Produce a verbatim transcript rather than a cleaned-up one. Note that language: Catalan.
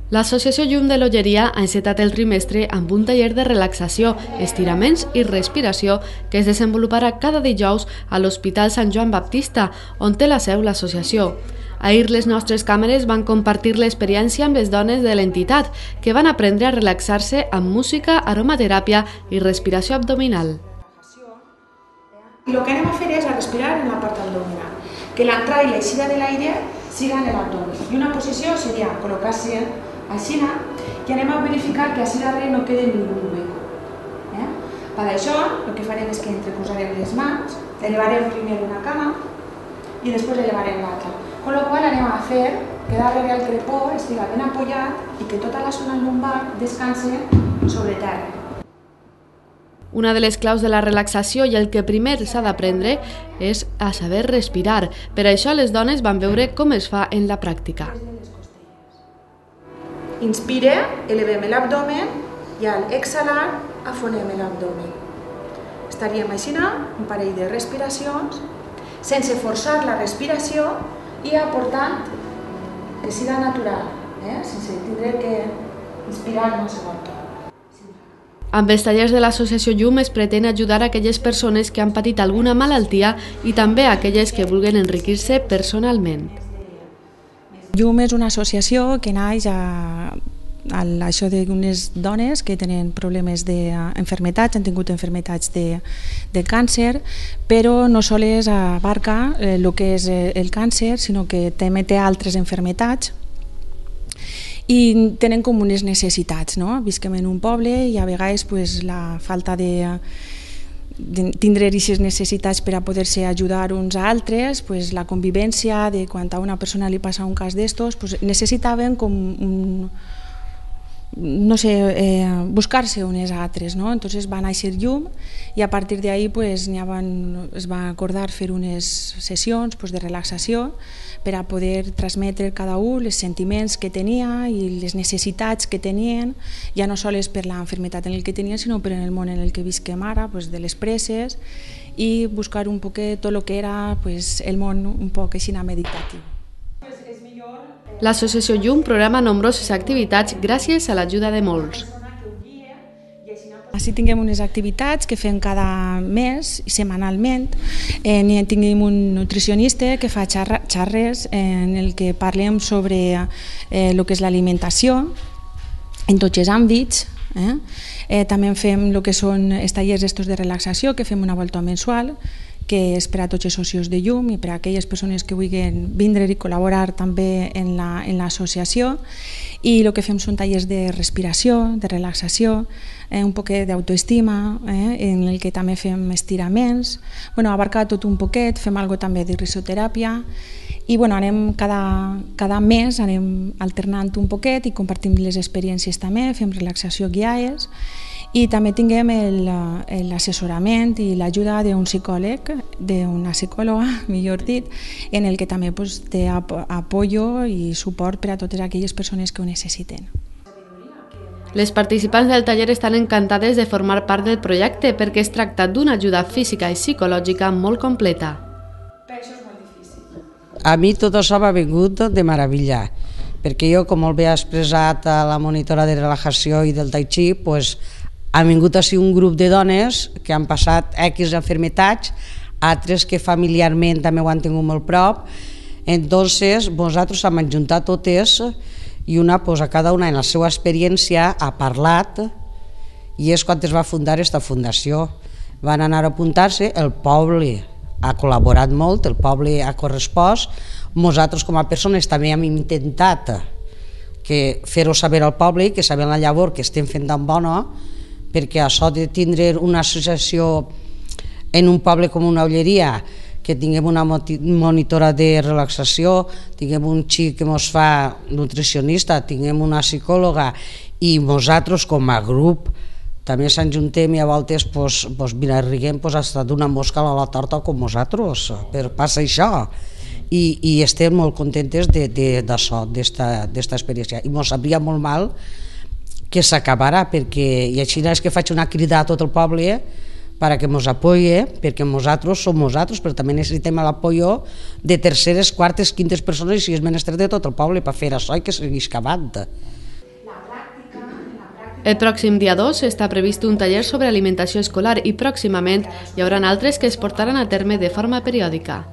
L'Associació Llum de l'Olleria ha encetat el trimestre amb un taller de relaxació, estiraments i respiració que es desenvoluparà cada dijous a l'Hospital Sant Joan Baptista, on té la seu l'associació. Ahir les nostres càmeres van compartir l'experiència amb les dones de l'entitat, que van aprendre a relaxar-se amb música, aromateràpia i respiració abdominal. Y lo que anem a fer és a respirar en la part abdominal, que l'entrada i l'eixida de l'aire siga en l'abdomen. I una posició seria col·locar-se així, i anem a verificar que així darrere no quede ningú hueco. Eh? Per això, el que farem és que entreposarem les mans, elevarem primer una cama i després elevarem l'altra. Con lo qual anem a fer que darrere el crepó estiga ben apoyat i que tota la zona lumbar descanse sobre terra. Una de les claus de la relaxació i el que primer s'ha d'aprendre és a saber respirar. Per això les dones van veure com es fa en la pràctica. Inspire, elevem l'abdomen i al exhalar afonem l'abdomen. Estaríem així un parell de respiracions sense forçar la respiració i aportant que siga natural, eh? sense tindre que inspirar en un segon torn. Amb els tallers de l'Associació Llum es pretén ajudar a aquelles persones que han patit alguna malaltia i també a aquelles que vulguin enriquir-se personalment. Llum és una associació que naix a, a això d'unes dones que tenen problemes d'enfermetats, han tingut enfermetats de, de càncer, però no sols abarca el que és el càncer, sinó que també té altres enfermetats i tenen com unes necessitats, no? Visquem en un poble i a vegades pues, la falta de, de tindre aquestes necessitats per a poder-se ajudar uns a altres, pues, la convivència de quan a una persona li passa un cas d'estos, pues, necessitaven com un, no sé, eh, buscar-se unes a altres, no? Entonces va néixer Llum i a partir d'ahí pues, van, es va acordar fer unes sessions pues, de relaxació per a poder transmetre cada un els sentiments que tenia i les necessitats que tenien, ja no sols per l'enfermetat en el que tenien, sinó per el món en el que visquem ara, pues, de les presses, i buscar un poquet tot el que era pues, el món un poc així meditatiu. L'Associació Llum programa nombroses activitats gràcies a l'ajuda de molts. Així tinguem unes activitats que fem cada mes, setmanalment. Eh, tinguem un nutricionista que fa xarres en el que parlem sobre eh, el que és l'alimentació en tots els àmbits. Eh? Eh, també fem el que són els tallers estos de relaxació, que fem una volta mensual, que és per a tots els socis de Llum i per a aquelles persones que vulguin vindre i col·laborar també en l'associació. I el que fem són tallers de respiració, de relaxació, eh, un poquet d'autoestima, eh, en el que també fem estiraments. Bueno, abarca tot un poquet, fem algo també de risoteràpia i bueno, anem cada, cada mes anem alternant un poquet i compartim les experiències també, fem relaxació guiades. I també tinguem l'assessorament i l'ajuda d'un psicòleg, d'una psicòloga, millor dit, en el que també pues, té apoyo i suport per a totes aquelles persones que ho necessiten. Les participants del taller estan encantades de formar part del projecte perquè es tracta d'una ajuda física i psicològica molt completa. A mi tot això m'ha vingut de meravella, perquè jo, com molt bé ha expressat a la monitora de relajació i del tai chi, pues, ha vingut així un grup de dones que han passat X enfermetats, altres que familiarment també ho han tingut molt prop. Entonces, nosaltres hem ajuntat totes i una, pues, a cada una en la seva experiència ha parlat i és quan es va fundar aquesta fundació. Van anar a apuntar-se, el poble ha col·laborat molt, el poble ha correspost, nosaltres com a persones també hem intentat que fer-ho saber al poble i que sabem la llavor que estem fent tan bona, perquè això de tindre una associació en un poble com una Olleria, que tinguem una monitora de relaxació, tinguem un xic que ens fa nutricionista, tinguem una psicòloga i nosaltres com a grup també s'enjuntem i a voltes pues, pues, mira, riguem pues, hasta d'una mosca a la torta com nosaltres, per passar això. I, i estem molt contentes d'això, d'esta experiència. I ens sabria molt mal que s'acabarà, perquè i així és que faig una crida a tot el poble perquè ens apoye, perquè nosaltres som nosaltres, però també necessitem l'apoyo de terceres, quartes, quintes persones i si és menester de tot el poble per fer això i que segueix acabant. El pròxim dia dos està previst un taller sobre alimentació escolar i pròximament hi haurà altres que es portaran a terme de forma periòdica.